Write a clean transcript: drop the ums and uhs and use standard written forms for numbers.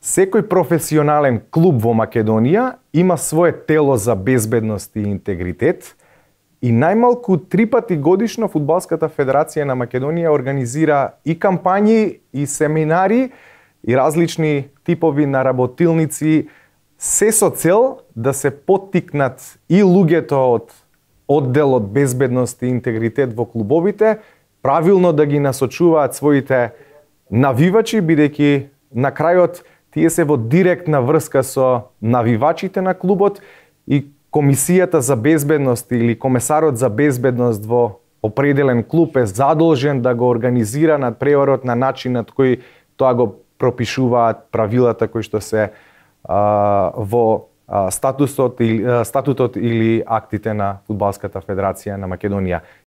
Секој професионален клуб во Македонија има свое тело за безбедност и интегритет и најмалку 3 пати годишно Фудбалската федерација на Македонија организира и кампањи, и семинари, и различни типови наработилници, се со цел да се поттикнат и луѓето од одделот безбедност и интегритет во клубовите, правилно да ги насочуваат своите навивачи, бидејќи на крајот тие се во директна врска со навивачите на клубот и Комисијата за безбедност или комесарот за безбедност во определен клуб е задолжен да го организира надпреварот на начинот кој тоа го пропишуваат правилата кои што се во статутот или актите на Фудбалската федерација на Македонија.